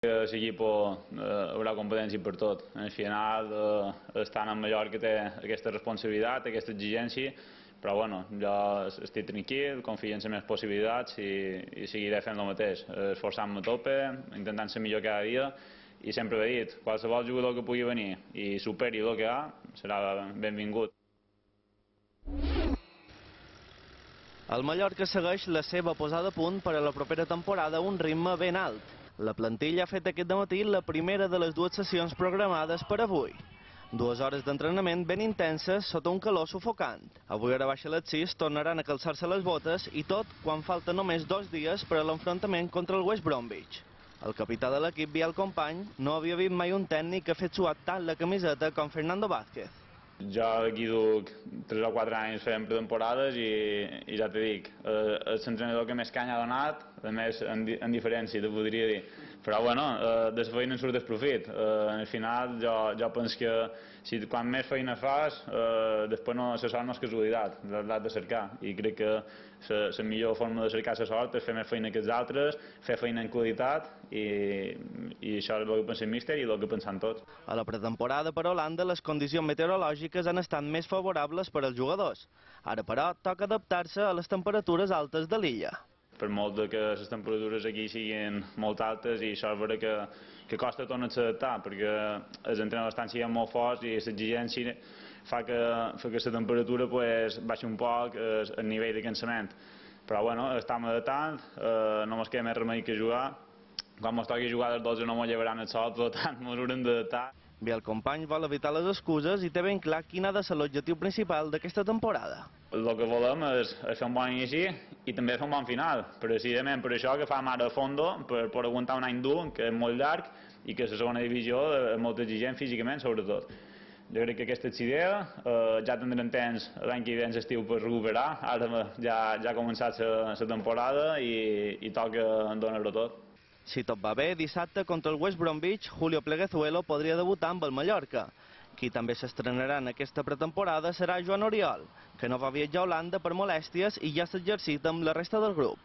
L'equip haurà competència per tot. Al final, estant en Mallorca té aquesta responsabilitat, aquesta exigència, però bueno, jo estic tranquil, confio en les meves possibilitats i seguiré fent el mateix, esforçant-me a tope, intentant ser millor cada dia i sempre he dit, qualsevol jugador que pugui venir i superi el que ha serà benvingut. El Mallorca segueix la seva posada a punt per a la propera temporada a un ritme ben alt. La plantilla ha fet aquest dematí la primera de les dues sessions programades per avui. 2 hores d'entrenament ben intenses sota un calor sufocant. Avui a baix a les 6 tornaran a calçar-se les botes i tot quan falten només 2 dies per a l'enfrontament contra el West Bromwich. El capità de l'equip, Biel Company, no havia vist mai un tècnic que ha fet suar tant la camiseta com Fernando Vázquez. Jo aquí duc 3 o 4 anys fent pretemporades i ja t'he dic, és l'entrenador que més canya ha donat, a més en diferència, te podria dir. Però bueno, de la feina en surt el profit. Al final jo penso que si quan més feina fas, després la sort no és casualitat, l'has de cercar. I crec que la millor forma de cercar la sort és fer més feina que els altres, fer feina en qualitat i això és el que pensa el míster i el que pensem tots. A la pretemporada per Holanda les condicions meteorològiques han estat més favorables per als jugadors. Ara, però, toca adaptar-se a les temperatures altes de l'illa. Per molt que les temperatures aquí siguin molt altes i això és vera que costa tornar-se a adaptar perquè els entrenadors estan sent molt forts i l'exigència fa que la temperatura baixi un poc el nivell de cansament. Però bueno, estem adaptant, no ens queda més remei que jugar. Quan ens toqui jugar dels 12 no ens llevaran el sol, per tant ens haurem d'adaptar. Biel Company vol evitar les excuses i té ben clar quin ha de ser l'objectiu principal d'aquesta temporada. El que volem és fer un bon inici i també fer un bon final, precisament per això que fem ara a fondo, per aguantar un any dur, que és molt llarg i que la segona divisió és molt exigent físicament, sobretot. Jo crec que aquesta és idea, ja tindrem temps l'any que ve en l'estiu per recuperar, ara ja ha començat la temporada i toca donar-ho tot. Si tot va bé, dissabte contra el West Bromwich, Julio Pleguezuelo podria debutar amb el Mallorca. Qui també s'estrenarà en aquesta pretemporada serà Joan Oriol, que no va viatjar a Holanda per molèsties i ja s'ha exercit amb la resta del grup.